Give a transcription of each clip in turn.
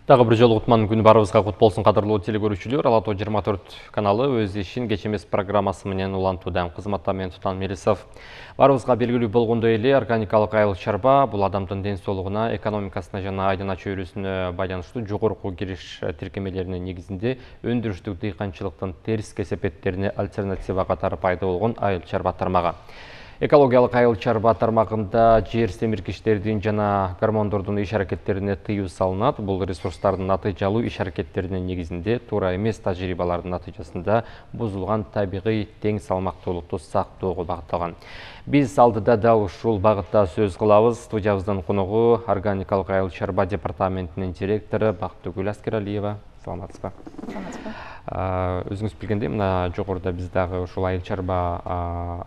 Дагы бир жолу Кутман күнү барыбызга кут болсун, кадырлуу телекөрүүчүлөр. Ала Тоо 24 каналы өз ишин кеч эмес программасы менен улантууда. Кызматта мен Тутан Мелисов. Барыбызга белгилүү болгондой эле, органикалык айыл чарба бул адамдын ден соолугуна, экономикасына жана айдана чөйрөсүнө байланыштуу жогорку кириш тиркемелеринин негизинде өндүрүштүк дыйканчылыктын терс кесепеттерине альтернатива катары пайда болгон айыл чарба тармагы. Экологиялык айыл чарба тармагында жер семиргичтердин жана гормондордун иш аракеттерине тыюу салынат. Бул ресурстардын натыйжалуу иш аракеттеринин негизинде туура эмес тажрыйбалардын натыйжасында бузулган табигый тең салмактуулукту сактоого багытталган. Биз алдыда да ушул багытта сөз кылабыз. Студиябыздын коногу органикалык айыл чарба департаментинин директору Бактыгүл Аскералиева. Саламатсызбы? Өзүңүз билгендей, мына жогоруда биз дагы ушул айыл чарба,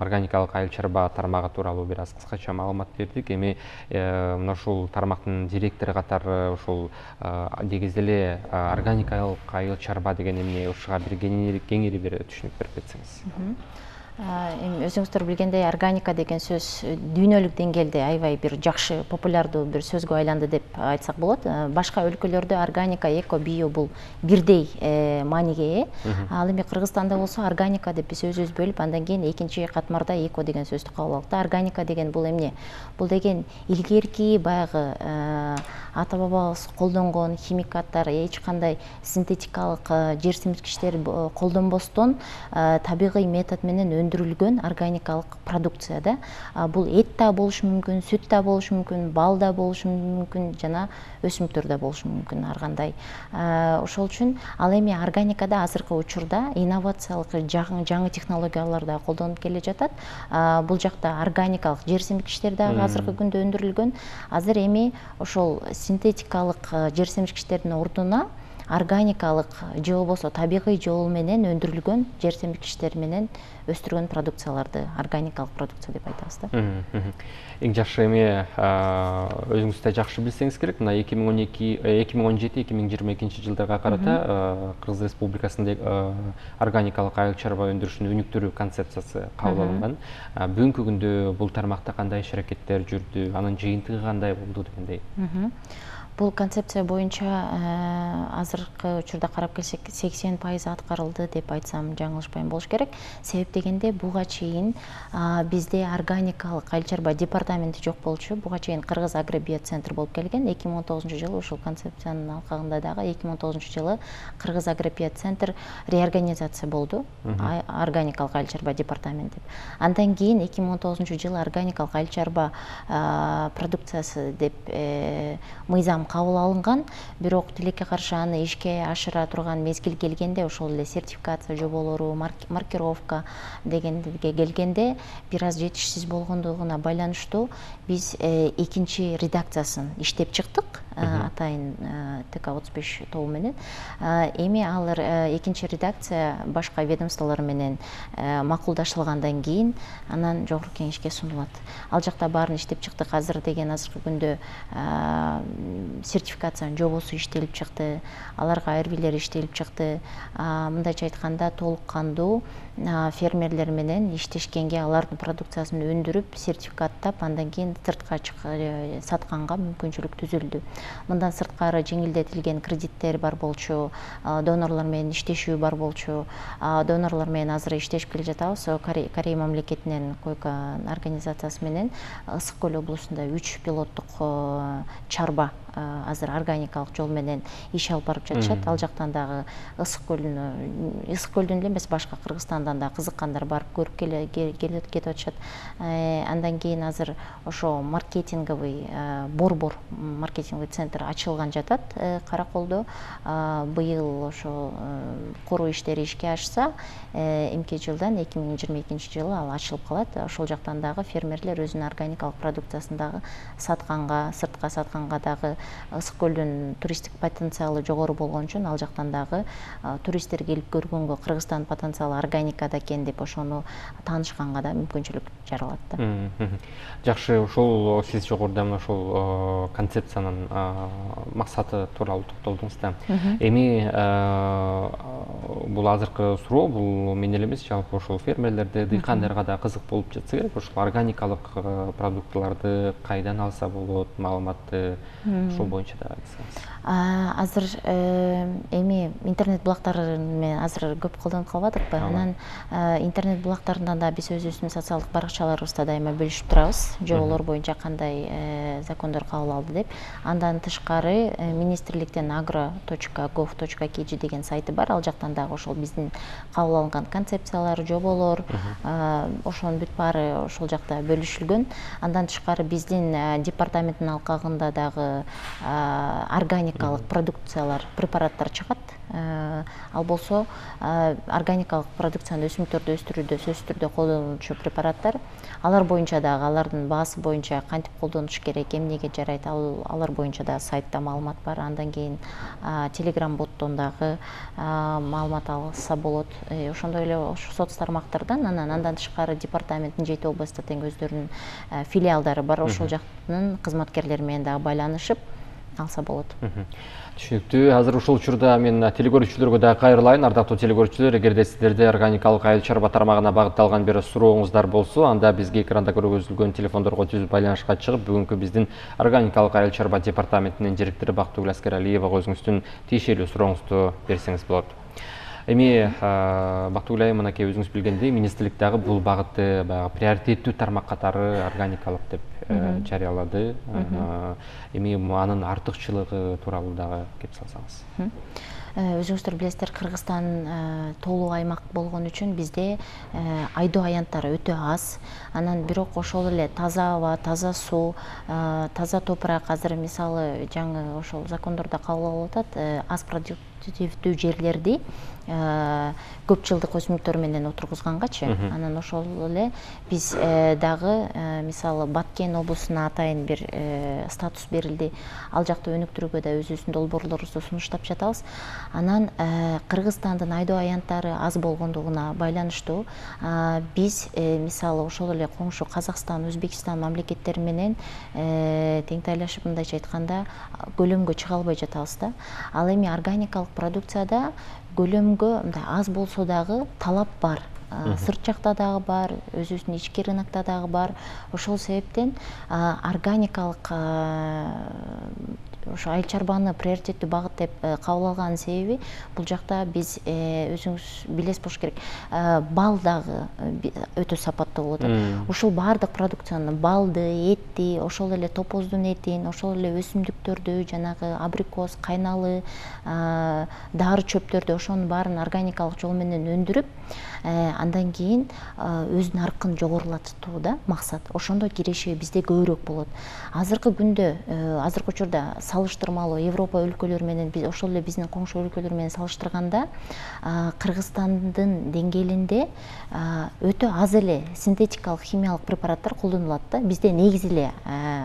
органикалык айыл чарба тармагы тууралуу бир аз кыскача маалымат бердик. Эми мына ушул тармактын директору катары ушул негизи эле органикалык айыл чарба деген эмне, ушуга бир кеңири бир түшүнүк берип кетсеңиз. Эми өзүңүздөр билгендей, органика деген сөз дүйнөлүк деңгээлде аябай бир жакшы, популярдуу бир сөзгө айланды деп айтсак болот. Башка өлкөлөрдө органика, эко, био бул бирдей мааниге ээ. Ал эми Кыргызстанда болсо органика деп биз өзүбүз бөлүп, андан кийин экинчи катмарда эко деген сөздү кабыл алдык. Органика деген бул эмне? Бул деген илгерки баягы ата-бабабыз колдонгон химикаттар, эч кандай синтетикалык жер семирткичтер колдонбостон табигый метод менен өндүрүлгөн органикалык продукция да. Бул эт да болушу мүмкүн, сүт да болушу мүмкүн, бал да болушу мүмкүн, жана өсүмдүктөр да болушу мүмкүн ар кандай. Ошол үчүн ал эми органикада азыркы учурда инновациялык жаңы технологиялар да колдонуп келе жатат. Бул жакта органикалык жер семирткичтер дагы азыркы күндө өндүрүлгөн. Азыр эми ошол синтетикалык жер семирткичтердин ордуна органикалык же болбосо табигый жол менен өндүрүлгөн жер семирткичтер менен өстүргөн продукцияларды органикалык продукция деп айтабыз да. Эң жакшы эми өзүңүз да жакшы билсеңиз керек, мына 2017-2022 жылдарга карата Кыргыз Республикасында органикалык айыл чарба өндүрүшүнүн өнүктүрүү концепциясы кабыл алынган. Бүгүнкү күндө бул тармакта кандай иш аракеттер жүрдү, анын жыйынтыгы кандай болду дегендей? Бул концепция боюнча азыркы учурда карап келсек 80% аткарылды деп айтсам жаңылышпайм болуш керек. Себеп дегенде буга чейин бизде органикалык айыл чарба департаменти жок болчу. Буга чейин Кыргыз агробиоцентр болуп келген. 2019-жылы ушул концепциянын алкагында дагы 2019-жылы Кыргыз агробиоцентр реорганизация болду. Органикалык айыл чарба департамент деп. Андан кийин 2019-жылы органикалык айыл чарба продукциясы деп мыйзам кабыл алынган, бирок тилекке каршы аны ишке ашыра турган мезгил келгенде, ошол эле сертификация жоболору, маркировка дегенге келгенде бир аз жетишсиз болгондугуна байланыштуу биз экинчи редакциясын иштеп чыктык. Атайын ТК-35 тобу менен. Эми ал экинчи редакция башка ведомстволор менен макулдашылгандан кийин анан жогорку кеңешке сунулат. Ал жакта баарын иштеп чыктык. Азыр деген азыркы күндө сертификациянын жобосу иштелип чыкты, аларга айырбилер иштелип чыкты. Мындайча айтканда толук кандуу фермерлер менен иштешкенге, алардын продукциясын өндүрүп, сертификаттап, андан кийин сыртка сатканга мүмкүнчүлүк түзүлдү. Мындан сырткары жеңилдетилген кредиттер бар болчу, донорлор менен иштешүү бар болчу. Донорлор менен азыр иштешип келе жатабыз. Корея мамлекетинен койка организациясы менен Ысык көл облусунда 3 пилоттук чарба азыр органикалык жол менен иш алып барып жатышат. Ал жактан дагы Ысык көлдүн эле эмес, башка Кыргызстандан да кызыккандар барып көрүп кетип атышат. Андан кийин азыр ошо маркетинговый борбор маркетинговый центр ачылган жатат Караколдо. Быйыл ошо куруу иштери ишке ашса, эмки жылдан 2022-жылы ал ачылып калат. Ошол жактан дагы фермерлер өзүнүн органикалык продукциясын дагы сатканга, сыртка сатканга дагы Ысык көлдүн туристтик потенциалы жогору болгон үчүн ал жактан дагы туристтер келип көргөнгө Кыргызстан потенциалы органикада экен деп ошону таанышканга да мүмкүнчүлүк жаралат да. Жакшы, ошол сиз жогоруда мына ошол концепциянын максаты тууралуу токтолдуңуз да. Эми бул азыркы суроо, бул мен эле эмес, жалпы ошол фермерлерде, дыйкандарга да кызык болуп жатса керек. Ошол органикалык продуктыларды кайдан алса болот, маалыматты ошол боюнча да айтсаңыз. Азыр эми интернет булактары менен азыр көп колдонуп калбадыкпы? Анан интернет булактарында да биз өзүбүздүн социалдык баракчаларыбызда дайыма бөлүшүп турабыз. Жоболор боюнча кандай закондор кабыл алды деп. Андан тышкары министрликтен agro.gov.kg деген сайты бар. Ал жактан дагы ошол биздин кабыл алынган концепциялар, жоболор, ошонун бүт баары ошол жакта бөлүшүлгөн. Андан тышкары биздин департаменттин алкагында дагы органикалык продукциялар, препараттар чыгат. Ал болсо органикалык продукцияны өсүмдүктөрдү өстүрүүдө сөзсүз түрдө колдонулчу препараттар. Алар боюнча дагы алардын баасы боюнча кантип колдонуш керек, эмнеге жарайт, алар боюнча да сайтта маалымат бар. Андан кийин Telegram боттон дагы маалымат алса болот. Ошондой эле ошо соц тармактардан андан тышкары департаменттин 7 областта тең өздөрүнүн филиалдары бар. Ошол жактын кызматкерлери менен дагы байланышып алса болот. Түшүнүктүү. Азыр ушул учурда мен телекөрүүчүлөргө дагы кайрылайын. Ардактуу телекөрүүчүлөр, эгерде сиздерде органикалык айыл чарба тармагына багытталган бир сурооңуздар болсо, анда бизге экранда көргөзүлгөн телефондорго түзүп байланышка чыгып, бүгүнкү биздин органикалык айыл чарба департаментинин директору Бактыгүл Аскералиевага өзүңүздүн тиешелүү сурооңузду берсеңиз болот. Эми Бактыгүл айым, мынакей өзүңүз билгендей, министрлик дагы бул багытты баягы приоритеттүү тармак катары органикалык деп жарыялады. Эми анын артыкчылыгы тууралуу дагы кеп салсаңыз. Өзүңүздөр билесиздер, Кыргызстан тоолуу аймак болгон үчүн бизде айдоо аянттары өтө аз. Анан бирок ошол эле таза аба, таза суу, таза топурак азыр мисалы жаңы ошол закондордо кабыл алып атат, аз продуктивдүү жерлерди көп жылдык өсүмдүктөр менен отургузгангачы. Анан ошол эле биз дагы мисалы Баткен облусуна атайын бир статус берилди. Ал жакта өнүктүрүүгө да өзүбүздүн долбоорлорубузду сунуштап жатабыз. Анан Кыргызстандын айдоо аянттары аз болгондугуна байланыштуу биз мисалы ошол эле коңшу Казакстан, Өзбекстан мамлекеттери менен теңтайлашып, мындайча айтканда, көлөмгө чыга албай жатабыз да. Ал эми органикалык продукцияда көлөмгө мындай аз болсо дагы талап бар. Сырт жакта дагы бар, өзүбүздүн ички рынокто дагы бар. Ошол себептен органикалык ошо айыл чарбаны приоритеттүү багыт деп кабыл алганын себеби бул жакта биз өзүңүз билесиз болуш керек, бал дагы өтө сапаттуу болуп атат. Ушул баардык продукцияны, балды, этти, ошол эле топоздун этин, ошол эле өсүмдүктөрдү, жанагы абрикос, кайналы, дары чөптөрдү, ошонун баарын органикалык жол менен өндүрүп, андан кийин өз наркын жогорулатуу да максат. Ошондо киреши бизде көбүрөөк болот. Азыркы күндө, азыркы учурда салыштырмалуу Европа өлкөлөрү менен, ошол эле биздин коңшу өлкөлөр менен салыштырганда, Кыргызстандын деңгээлинде өтө аз эле синтетикалык химиялык препараттар колдонулат да. Бизде негизи эле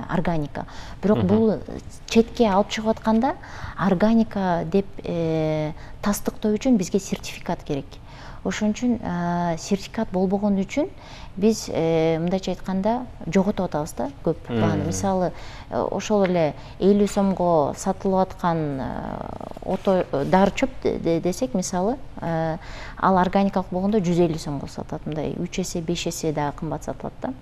органика. Бирок бул четке алып чыгып атканда органика деп тастыктоо үчүн бизге сертификат керек. Ошон үчүн сертификат болбогон үчүн биз мындайча айтканда жоготуп атабыз да көп бааны. Мисалы ошол эле 50 сомго сатылып аткан дары чөп десек, мисалы ал органикалык болгондо 150 сомго сатат, мындай 3 эсе 5 эсе дагы кымбат сатылат да.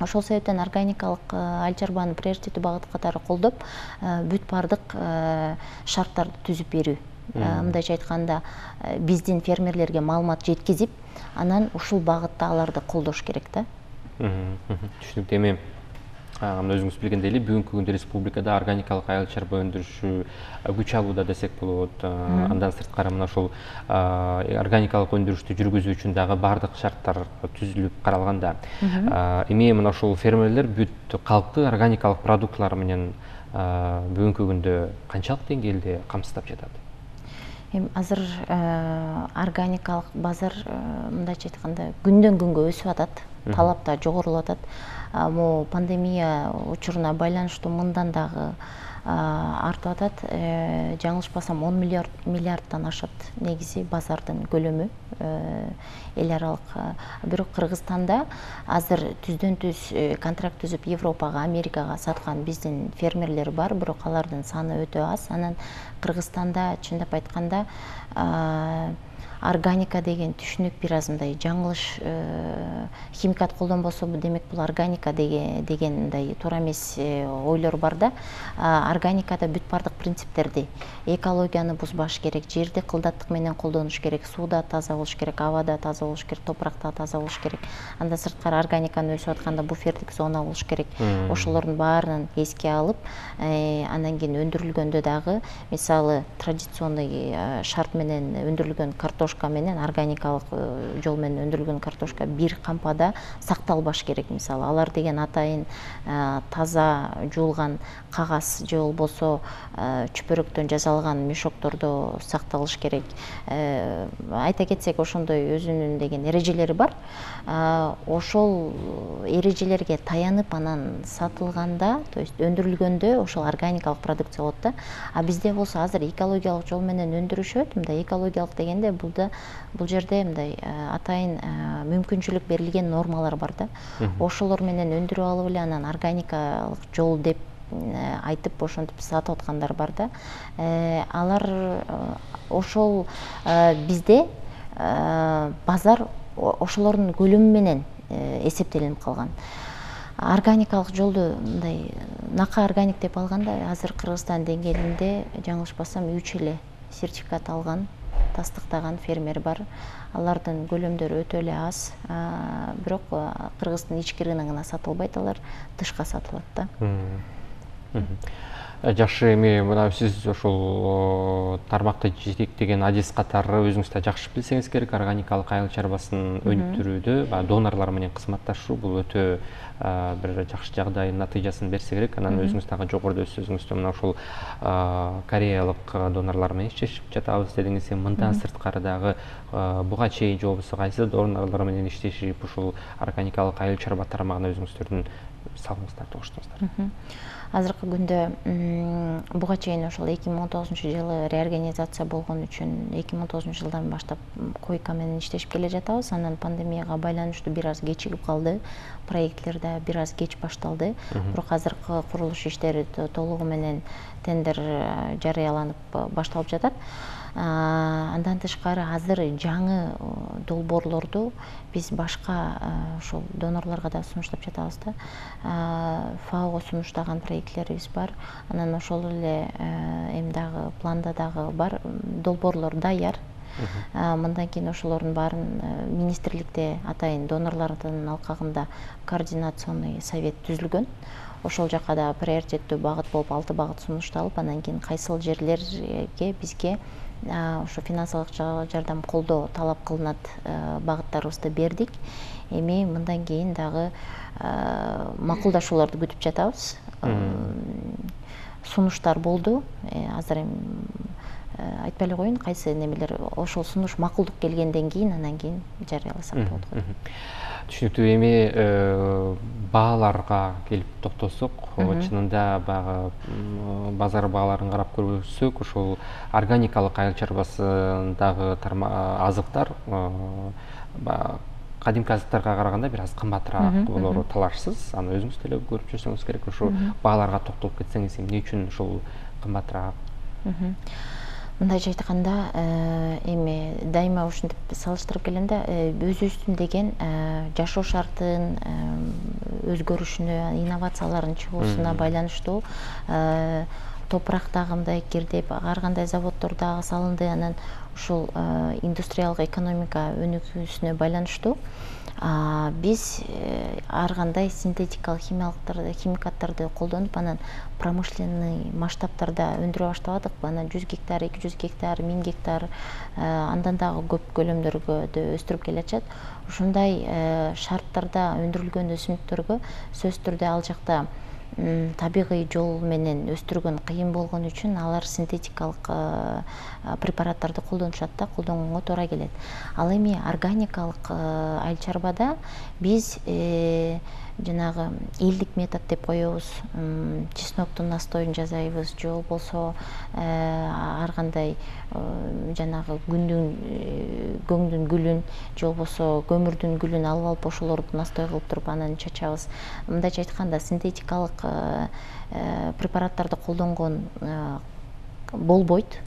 Ошол себептен органикалык айыл чарбаны приоритеттүү багыт катары колдоп, бүт баардык шарттарды түзүп берүү. Мындайча айтканда биздин фермерлерге маалымат жеткизип, анан ушул багытта аларды колдош керек да. Түшүнүктүү. Эми өзүңүз билгендей эле бүгүнкү күндө республикада органикалык айыл чарба өндүрүшү күч алууда десек болот. Андан сырткары мына ушул органикалык өндүрүштү жүргүзүү үчүн дагы баардык шарттар түзүлүп каралган да. Эми мына ушул фермерлер бүт калкты органикалык продуктылар менен бүгүнкү күндө канчалык деңгээлде камсыздап жатат? Азыр органикалык базар мындайча айтканда күндөн күнгө өсүп атат, талап да жогорулап атат. Пандемия учуруна байланыштуу мындан дагы артып атат. Жаңылышпасам 10 миллиардтан ашат негизи базардын көлөмү эл аралык. Бирок Кыргызстанда азыр түздөн түз контракт түзүп Европага, Америкага саткан биздин фермерлер бар, бирок алардын саны өтө аз. Анан Кыргызстанда чындап айтканда органика деген түшүнүк бир аз мындай жаңылыш, химикат колдонбосо демек бул органика деген мындай туура эмес ойлор бар да. Органикада бүт бардык принциптерди, экологияны бузбаш керек, жерди кылдаттык менен колдонуш керек, сууда таза болуш керек, абада таза болуш керек, топуракта таза болуш керек. Андан сырткары органиканы өсүп атканда буфердик зона болуш керек. Ошолордун баарын эске алып, андан кийин өндүрүлгөндө дагы мисалы традиционный шарт менен өндүрүлгөн картошка менен органикалык жол менен өндүрүлгөн картошка бир кампада сакталбаш керек. Мисалы алар деген атайын таза жуулган кагаз же болбосо чүпөрөктөн жасалган мешоктордо сакталыш керек. Айта кетсек, ошондой өзүнүн деген эрежелери бар. Ошол эрежелерге таянып анан сатылганда, то есть өндүрүлгөндө ошол органикалык продукция болот да. А бизде болсо азыр экологиялык жол менен өндүрүшөт. Мындай экологиялык дегенде бул жерде мындай атайын мүмкүнчүлүк берилген нормалар бар да. Ошолор менен өндүрүп алып эле анан органикалык жол деп айтып ошентип сатып аткандар бар да. Алар ошол бизде базар ошолордун көлөмү менен эсептелинип калган. Органикалык жолду мындай нака органик деп алганда азыр Кыргызстан деңгээлинде жаңылышпасам 3 эле сертификат алган, тастыктаган фермер бар. Алардын көлөмдөрү өтө эле аз, бирок Кыргыздын ички рыногуна сатылбайт, алар тышка сатылат да. Жакшы, эми мына сиз ошол тармакты жетектеген адис катары өзүңүз да жакшы билсеңиз керек, органикалык айыл чарбасын өнүктүрүүдө донорлор менен кызматташуу бул өтө бир жакшы жагдайдын натыйжасын берсе керек. Анан өзүңүз дагы жогоруда өз сөзүңүздө мына ошол кореялык донорлор менен иштешип жатабыз дедиңиз. Мындан сырткары дагы буга чейин же болбосо кайсы донорлор менен иштешип ушул органикалык айыл чарба тармагына өзүңүздөрдүн салымыңыздарды коштуңуздар? Азыркы күндө буга чейин ошол 2019-жылы реорганизация болгон үчүн 2019-жылдан баштап койка менен иштешип келе жатабыз. Анан пандемияга байланыштуу бир аз кечигип калды, проектлер да бир аз кеч башталды. Бирок азыркы курулуш иштери толугу менен тендер жарыяланып башталып жатат. Андан тышкары азыр жаңы долбоорлорду биз башка ошол донорлорго да сунуштап жатабыз да. ФАОго сунуштаган проектлерибиз бар. Анан ошол эле эми дагы планда дагы бар, долбоорлор даяр. Мындан кийин ошолордун баарын министрликте атайын донорлордун алкагында координационный совет түзүлгөн. Ошол жака да приоритеттүү багыт болуп 6 багыт сунушталып, анан кийин кайсыл жерлерге бизге ошо финансылык жардам колдоо талап кылынат багыттарыбызды бердик. Эми мындан кийин дагы макулдашууларды күтүп жатабыз. Сунуштар болду. Азыр эми айтпай эле коеюн, кайсы немелер ошол сунуш макулдук келгенден кийин анан кийин жарыяласак болот го. Түшүнүктүү. Эми бааларга келип токтосок, чынында баягы базар бааларын карап көрсөк, ошол органикалык айыл чарбасындагы азыктар кадимки азыктарга караганда бир аз кымбатыраак болору талашсыз. Аны өзүңүз деле көрүп жүрсөңүз керек. Ошо бааларга токтолуп кетсеңиз, эмне үчүн ушул кымбатыраак? Мындайча айтканда, эми дайыма ушинтип салыштырып келгенде, өзүбүздүн деген жашоо шартын өзгөрүшүнө, инновациялардын чыгуусуна байланыштуу топурактагы мындай кирдеп, ар кандай заводдор дагы салынды. Анан ушул индустриялык экономика өнүгүүсүнө байланыштуу биз ар кандай синтетикалык химикаттарды колдонуп, анан промышленный масштабтарда өндүрө баштабадык. Анан 100 гектар, 200 гектар, 1000 гектар, андан дагы көп көлөмдөргө өстүрүп келатышат. Ушундай шарттарда өндүрүлгөн өсүмдүктөргө сөзсүз түрдө ал жакта табигый жол менен өстүргөн кыйын болгон үчүн алар синтетикалык препараттарды колдонушат да, колдонгонго туура келет. Ал эми органикалык айыл чарбада биз жанагы элдик метод деп коебуз. Чесноктун настоюн жасайбыз, же болбосо ар кандай жанагы көңдүн гүлүн, же болбосо көмүрдүн гүлүн алып ошолорду настой кылып туруп анан чачабыз. Мындайча айтканда, синтетикалык препараттарды колдонгон болбойт.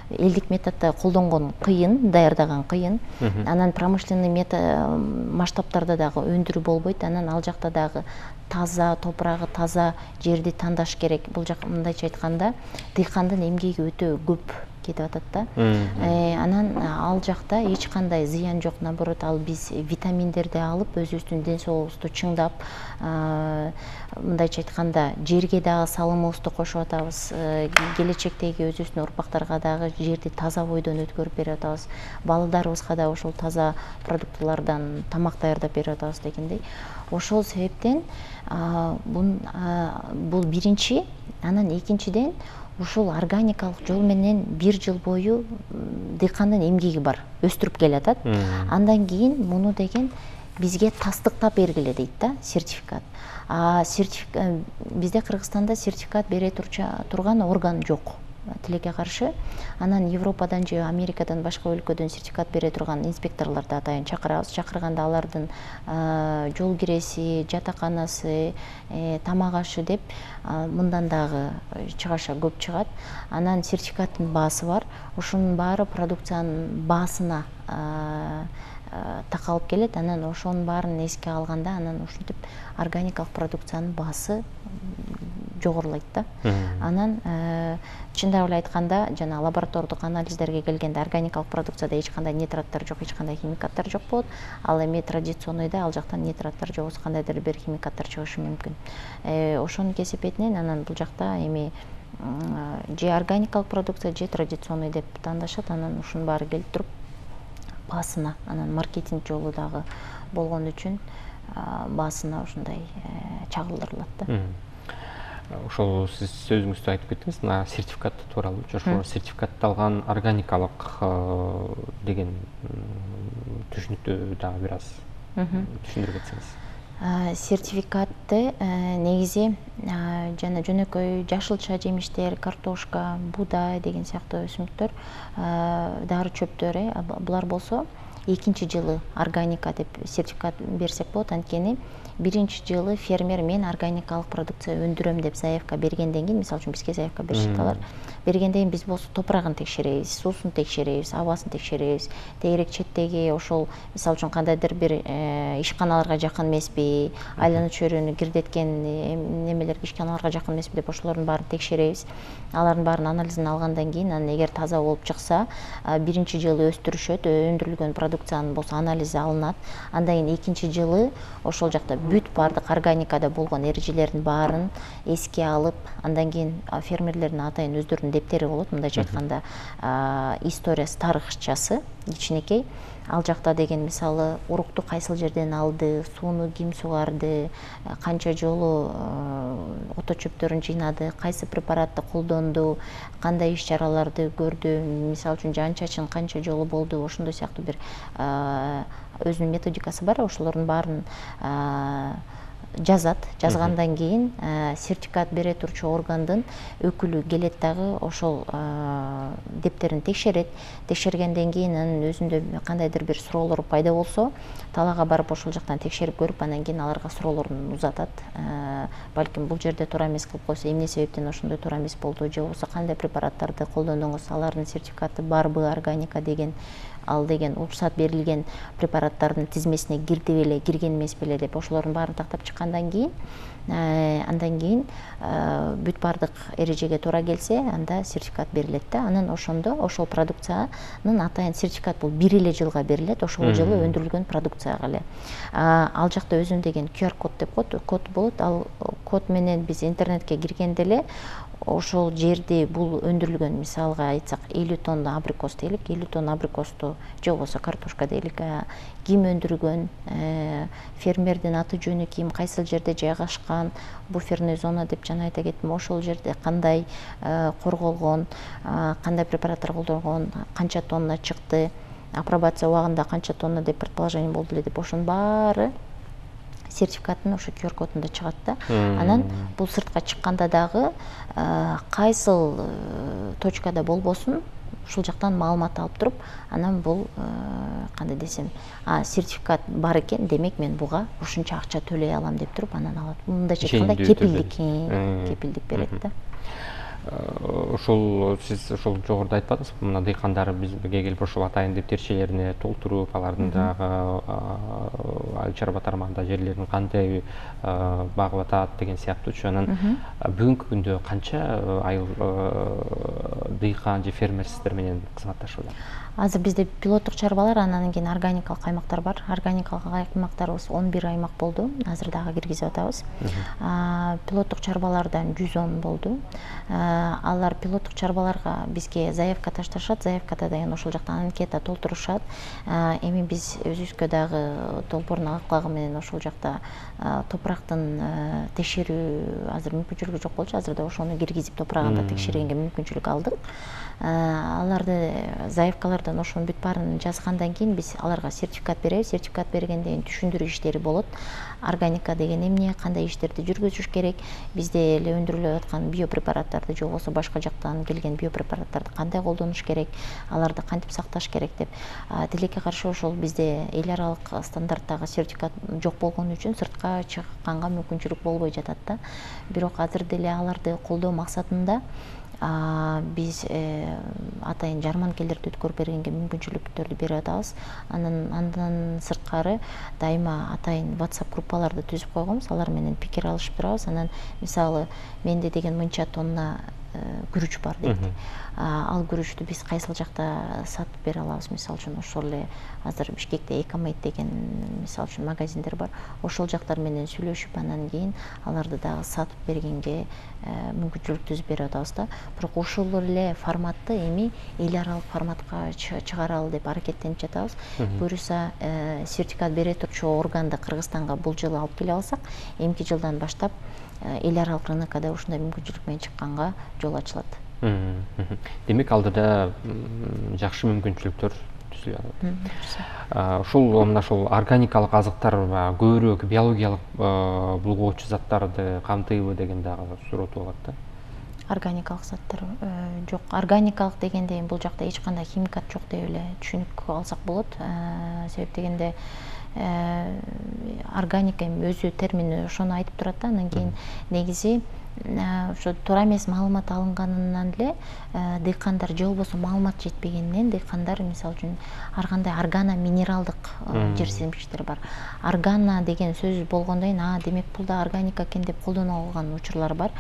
Элдик методдо колдонгон кыйын, даярдаган кыйын. Анан промышленный масштабтарда дагы өндүрүү болбойт. Анан ал жакта дагы таза топурагы, таза жерди тандаш керек. Бул жак мындайча айтканда дыйкандын эмгеги өтө көп кетип атат да. Анан ал жакта эч кандай зыян жок, наоборот, ал биз витаминдерди алып өзүбүздүн ден соолугубузду чыңдап, мындайча айтканда жерге дагы салымыбызды кошуп атабыз. Келечектеги өзүбүздүн урпактарга дагы жерди таза бойдон өткөрүп берип атабыз. Балдарыбызга да ошол таза продуктылардан тамак даярдап берип атабыз дегендей. Ошол себептен бул биринчи. Анан экинчиден ушул органикалык жол менен бир жыл бою дыйкандын эмгеги бар, өстүрүп келатат. Андан кийин муну деген бизге тастыктап бергиле дейт да, сертификат. Бизде Кыргызстанда сертификат бере турган орган жок, тилекке каршы. Анан Европадан же Америкадан башка өлкөдөн сертификат бере турган инспекторлорду атайын чакырабыз. Чакырганда алардын жол киреси, жатаканасы, тамак ашы деп мындан дагы чыгаша көп чыгат. Анан сертификаттын баасы бар. Ошонун баары продукциянын баасына такалып келет. Анан ошонун баарын эске алганда, анан ушинтип органикалык продукциянын баасы жогорулайт да. Анан чындап эле айтканда, жана лаборатордук анализдерге келгенде органикалык продукцияда эч кандай нитраттар жок, эч кандай химикаттар жок болот. Ал эми традиционныйда ал жактан нитраттар жок, кандайдыр бир химикаттар чыгышы мүмкүн. Ошонун кесепетинен анан бул жакта эми же органикалык продукция, же традиционный деп тандашат. Анан ушунун баары келип туруп баасына, анан маркетинг жолу дагы болгон үчүн баасына ушундай чагылдырылат да. Ошол сиз сөзүңүздө айтып кеттиңиз, мына сертификат тууралуу. Ошол сертификатталган органикалык деген түшүнүктү дагы бир аз түшүндүрүп кетсеңиз. Сертификатты негизи жана жөнөкөй жашылча жемиштер, картошка, буудай деген сыяктуу өсүмдүктөр, дары чөптөр, булар болсо экинчи жылы органика деп сертификат берсек болот. Анткени биринчи жылы фермер мен органикалык продукция өндүрөм деп заявка бергенден кийин, мисалы үчүн бизге заявка беришет алар. Бергенден кийин биз болсо топурагын текшеребиз, суусун текшеребиз, абасын текшеребиз. Тегерек четтеги ошол мисалы үчүн кандайдыр бир ишканаларга жакын эмеспи, айлана чөйрөнү кирдеткен немелерге, ишканаларга жакын эмеспи деп ошолордун баарын текшеребиз. Алардын баарын анализин алгандан кийин, анан эгер таза болуп чыкса, биринчи жылы өстүрүшөт, өндүрүлгөн продукциянын болсо анализи алынат. Андан кийин экинчи жылы ошол жакта бүт баардык органикада болгон эрежелердин баарын эске алып, андан кийин фермерлердин атайын өздөрүнүн дептери болот. Мындайча айтканда, историясы, тарыхчасы кичинекей. Ал жакта деген мисалы урукту кайсыл жерден алды, сууну ким сугарды, канча жолу ото чөптөрүн жыйнады, кайсы препаратты колдонду, кандай иш чараларды көрдү, мисалы үчүн жан чачын канча жолу болду, ошондой сыяктуу бир өзүнүн методикасы бар. Ошолордун баарын жазат. Жазгандан кийин сертификат бере турчу органдын өкүлү келет дагы ошол дептерин текшерет. Текшергенден кийин анын өзүндө кандайдыр бир суроолор пайда болсо, талаага барып ошол жактан текшерип көрүп, андан кийин аларга суроолорун узатат. Балким бул жерде туура эмес кылып койсо, эмне себептен ошондой туура эмес болду, же болбосо кандай препараттарды колдондуңуз, алардын сертификаты барбы, органика деген, ал деген уруксат берилген препараттардын тизмесине кирди беле, кирген эмес беле деп ошолордун баарын тактап чыккандан кийин, андан кийин бүт баардык эрежеге туура келсе, анда сертификат берилет да. Анан ошондо ошол продукциянын атайын сертификат бул бир эле жылга берилет, ошол жылы өндүрүлгөн продукцияга эле. Ал жакта өзүнүн деген QR код деп код болот. Ал код менен биз интернетке киргенде эле ошол жерди бул өндүрүлгөн, мисалга айтсак 50 тонна абрикос дейлик, 50 тонна абрикосту же болбосо картошка дейлик, ким өндүргөн, фермердин аты жөнү ким, кайсыл жерде жайгашкан, буферный зона деп жана айта кеттим, ошол жерде кандай корголгон, кандай препараттар колдонгон, канча тонна чыкты, апробация убагында канча тонна деп предположение болду эле деп, ошонун баары сертификаттын ошо QR кодунда чыгат да. Анан бул сыртка чыкканда дагы кайсыл точкада болбосун, ушул жактан маалымат алып туруп, анан бул кандай десем, сертификат бар экен, демек мен буга ушунча акча төлөй алам деп туруп анан алат. Мындайча айтканда кепилдик берет да. ушул сиз ушул жогоруда айтпадыңызбы, мына дыйкандар бизге келип ушул атайын тептерчелерине толтуруп, алардын дагы айыл чарба тармагында жерлерин кандай багып атат деген сыяктуучу. Анан бүгүнкү күндө канча айыл дыйкан же фермер сиздер менен кызматташууда? Азыр бизде пилоттук чарбалар, анан кийин органикалык аймактар бар. Органикалык аймактарыбыз 11 аймак болду. Азыр дагы киргизип атабыз. Пилоттук чарбалардан 110 болду. Алар пилоттук чарбаларга бизге заявка ташташат. Заявкада деген ошол жактан анкета толтурушат. Эми биз өзүбүзгө дагы долбоордун аклагы менен ошол жакта топурактын текшерүү азыр мүмкүнчүлүгү жок болчу. Азыр да ошону киргизип топурагында текшергенге мүмкүнчүлүк алдык. Аларды заявкалардан ошонун бүт баарын жазгандан кийин биз аларга сертификат беребиз. Сертификат бергенден кийин түшүндүрүү иштери болот. Органика деген эмне, кандай иштерди жүргүзүш керек, бизде эле өндүрүлүп аткан биопрепараттарды же болбосо башка жактан келген биопрепараттарды кандай колдонуш керек, аларды кантип сакташ керек деп. Тилекке каршы ошол бизде эл аралык стандарттагы сертификат жок болгон үчүн сыртка чыкканга мүмкүнчүлүк болбой жатат да. Бирок азыр деле аларды колдоо максатында биз атайын жарманкелерди өткөрүп бергенге мүмкүнчүлүктөрдү берип атабыз. Андан сырткары дайыма атайын WhatsApp группаларды түзүп койгонбуз. Алар менен пикир алышып турабыз. Анан мисалы менде деген мынча тонна күрүч бар дейт. Ал күрүчтү биз кайсыл жакта сатып бере алабыз? Мисалы үчүн ошол эле азыр Бишкекте Экомейт деген мисалы үчүн магазиндер бар. Ошол жактар менен сүйлөшүп, анан кийин аларды дагы сатып бергенге мүмкүнчүлүк түзүп берип атабыз да. Бирок ушул эле форматты эми эл аралык форматка чыгаралы деп аракеттенип жатабыз. Буюрса сертификат бере турчу органды Кыргызстанга бул жылы алып келе алсак, эмки жылдан баштап эл аралык рынокко да ушундай мүмкүнчүлүк менен чыкканга жол ачылат. Демек алдыда жакшы мүмкүнчүлүктөр түзүлүп атат. Ушул мына ушул органикалык азыктар көбүрөөк биологиялык булгоочу заттарды камтыйбы деген дагы суроо туулат да. Органикалык заттар жок. Органикалык дегенде бул жакта эч кандай химикат жок деп эле түшүнүк алсак болот. Себеп дегенде органика өзү термини ошону айтып турат да. Анан кийин негизи ошо туура эмес маалымат алынганынан эле дыйкандар же болбосо маалымат жетпегенинен дыйкандар мисалы үчүн ар кандай органа минералдык жер семчиктер бар. Органа деген сөз болгондон кийин демек бул да органика экен деп колдоно алган учурлар бар.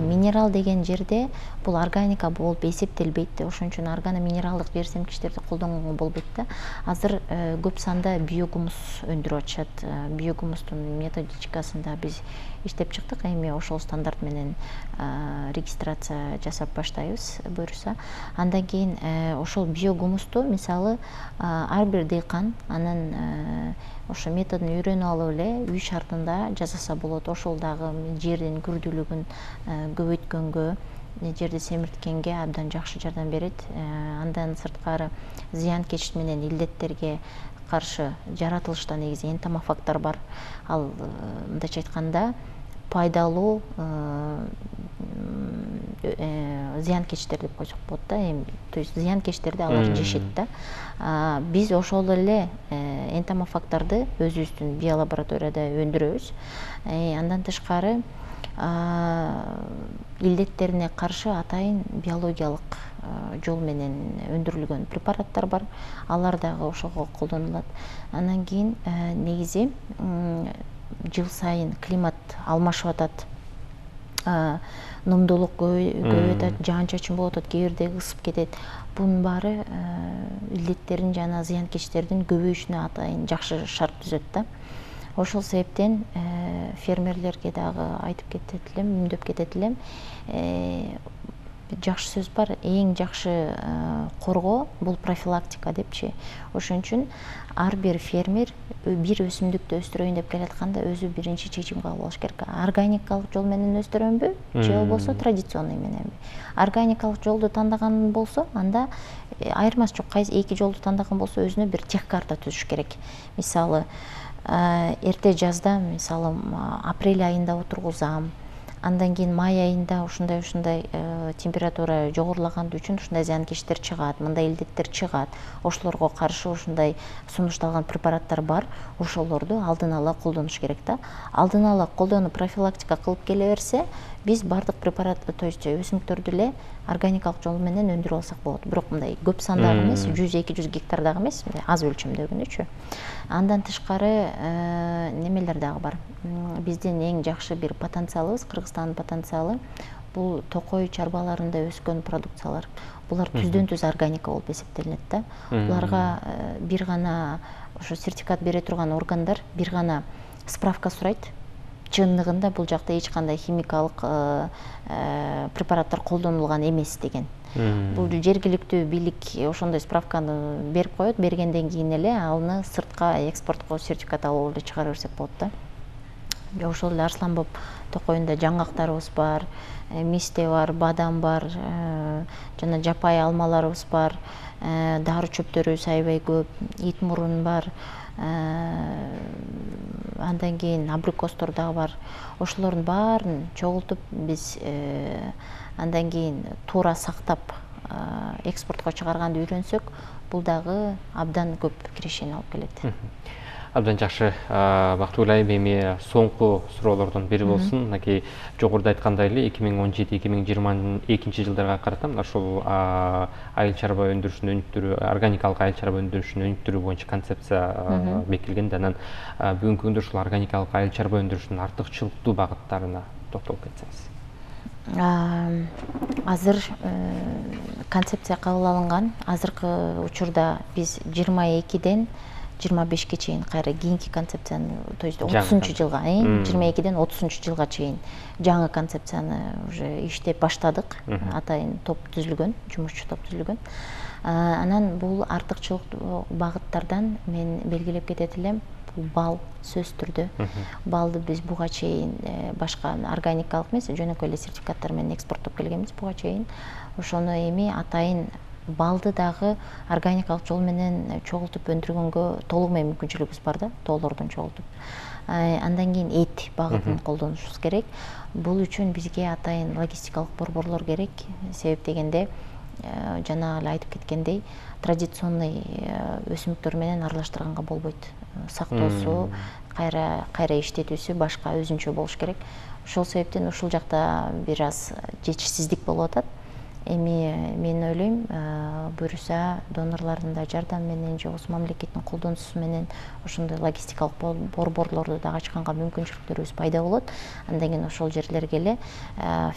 Минерал деген жерде бул органика болуп эсептелбейт. Ошон үчүн органа минералдык жер семчиктерди колдонгонго болбойт да. Азыр көп санда биогумус өндүрүп атышат. Биогумустун методичкасында биз иштеп чыктык. Эми ошол стандарт менен регистрация жасап баштайбыз буюрса. Андан кийин ошол биогумусту мисалы ар бир дыйкан анын ошо методун үйрөнүп алып эле үй шартында жасаса болот. Ошол дагы жердин күрдүүлүгүн көбөйткөнгө, жерди семирткенге абдан жакшы жардам берет. Андан сырткары зыянкеч менен илдеттерге каршы жаратылышта негизи энтомофагдар бар. Ал мындайча айтканда пайдалуу зыянкечтер деп койсок болот да. То есть зыянкечтерди алар жешет да. Биз ошол эле энтомофагдарды өзүбүздүн биолабораторияда өндүрөбүз. Андан тышкары илдеттерине каршы атайын биологиялык жол менен өндүрүлгөн препараттар бар. Алар дагы ошого колдонулат. Андан кийин негизи жыл сайын климат алмашып атат. Номдуулук көбөйүп атат, жаан-чачын болуп атат, кээ бирде ысып кетет. Бунун баары илдеттердин жана зыянкечтердин көбөйүшүнө атайын жакшы шарт түзөт да. Ошол себептен фермерлерге дагы айтып кетет элем, үндөп кетет элем. Жакшы сөз бар, эң жакшы коргоо бул профилактика депчи. Ошон үчүн ар бир фермер бир өсүмдүктү өстүрөйүн деп келатканда өзү биринчи чечим кабыл алыш керек. Органикалык жол менен өстүрөмбү же болбосо традиционный мененби? Органикалык жолду тандаган болсо, анда айырмасы жок. Кайсы эки жолду тандаган болсо өзүнө бир тех карта түзүш керек. Мисалы, эрте жазда, мисалы, апрель айында отургузам, Андан кийин май айында ушундай температура жогорулаган үчүн ушундай зыянкечтер чыгат, мындай илдеттер чыгат. Ошолорго каршы ушундай сунушталган препараттар бар. Ошолорду алдын ала колдонуш керек да. Алдын ала колдонуп профилактика кылып келе берсе, биз бардык препаратты, то есть өсүмдүктөрдү эле органикалык жол менен өндүрүп алсак болот. Бирок мындай көп сандагы эмес, 100-200 гектардагы эмес, мындай аз өлчөмдөгүнүчү. Андан тышкары немелер дагы бар. Биздин эң жакшы бир потенциалыбыз, Кыргызстандын потенциалы бул токой чарбаларында өскөн продукциялар. Булар түздөн түз органика болуп эсептелинет да. Буларга бир гана ошо сертификат бере турган органдар бир гана справка сурайт. Чындыгында бул жакта эч кандай химикалык препараттар колдонулган эмес деген. Бул жергиликтүү бийлик ошондой справканы берип коет, бергенден кийин эле аны сыртка экспортко сертификат алып эле чыгара берсек болот да. Ошол эле Арсланбоб токойунда жаңгактарыбыз бар, мисте бар, бадам бар, жана жапай алмаларыбыз бар, дары чөптөрүбүз аябай көп, ит мурун бар. Андан кийин абрикостор дагы бар. Ошолордун баарын чогултуп биз андан кийин туура сактап экспортко чыгарганды үйрөнсөк, бул дагы абдан көп кирешени алып келет. Абдан жакшы. Бактыгүл айым, эми соңку суроолордун бири болсун. Мынакей жогоруда айткандай эле 2017-2022 жылдарга карата ошол айыл чарба өндүрүшүнүн өнүктүрүү, органикалык айыл чарба өндүрүшүнүн өнүктүрүү боюнча концепция бекитилген. Анан бүгүнкү күндө ушул органикалык айыл чарба өндүрүшүнүн артыкчылыктуу багыттарына токтолуп кетсеңиз. Азыр концепция кабыл алынган. Азыркы учурда биз 22ден 25-ке чейин кайра кийинки концепцияны, то есть 30 жылга, 22ден 30 жылга чейин жаңы концепцияны уже иштеп баштадык. Атайын топ түзүлгөн, жумушчу топ түзүлгөн. Анан бул артыкчылык багыттардан мен белгилеп кетет элем. Бал сөз түрдө. Балды биз буга чейин башка органикалык эмес, жөнөкөй эле сертификаттар менен экспорттоп келгенбиз буга чейин. Ошону эми атайын балды дагы органикалык жол менен чогултуп өндүргөнгө толугу менен мүмкүнчүлүгүбүз бар да, тоолордон чогултуп. Андан кийин эт багытын колдонушубуз керек. Бул үчүн бизге атайын логистикалык борборлор керек. Себеп дегенде жана эле айтып кеткендей, традиционный өсүмдүктөр менен аралаштырганга болбойт. Сактоосу, кайра иштетүүсү башка өзүнчө болуш керек. Ошол себептен ушул жакта бир аз жетишсиздик болуп атат. Эми мен ойлойм, буюрса донорлордун да жардамы менен, же болбосо мамлекеттин колдонуусу менен ошондой логистикалык борборлорду дагы ачканга мүмкүнчүлүктөрүбүз пайда болот. Андан кийин ошол жерлерге эле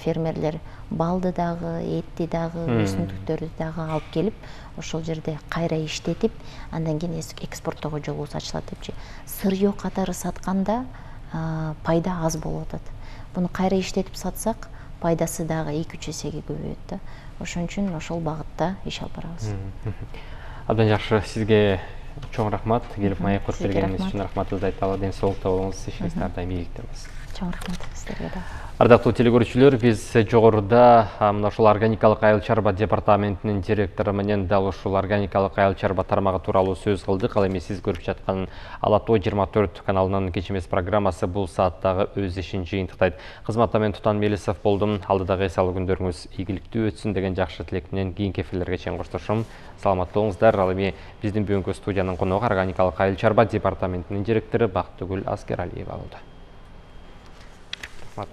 фермерлер балды дагы, этти дагы, өсүмдүктөрдү дагы алып келип, ошол жерде кайра иштетип, андан кийин экспорттоого жолубуз ачылат депчи. Сырьё катары сатканда пайда аз болуп атат. Буну кайра иштетип сатсак, пайдасы дагы 2-3 эсеге көбөйөт да. Ошон үчүн ошол багытта иш алып барабыз. Абдан жакшы, сизге чоң рахмат. Келип маек коюп бергениңиз үчүн рахматыбызды айталы. Ден соолукта болуңуз, ишиңиз ар дайым ийгиликте болсун. Чоң рахмат сиздерге да. Ардактуу телекөрүүчүлөр, биз жогоруда мына ушул органикалык айыл чарба департаментинин директору менен дал ушул органикалык айыл чарба тармагы тууралуу сөз кылдык. Ал эми сиз көрүп жаткан Ала Тоо 24 каналынын кеч эмес программасы бул сааттагы өз ишин жыйынтыктайт. Кызматта мен Тутан Мелисов болдум. Алдыдагы эс алуу күндөрүңүз ийгиликтүү өтсүн деген жакшы тилек менен кийинки эфирлерге чейин коштошом. Саламатта болуңуздар. Ал эми биздин бүгүнкү студиянын коногу органикалык айыл чарба департаментинин директору Бактыгүл Аскералиева болду. Рахмат.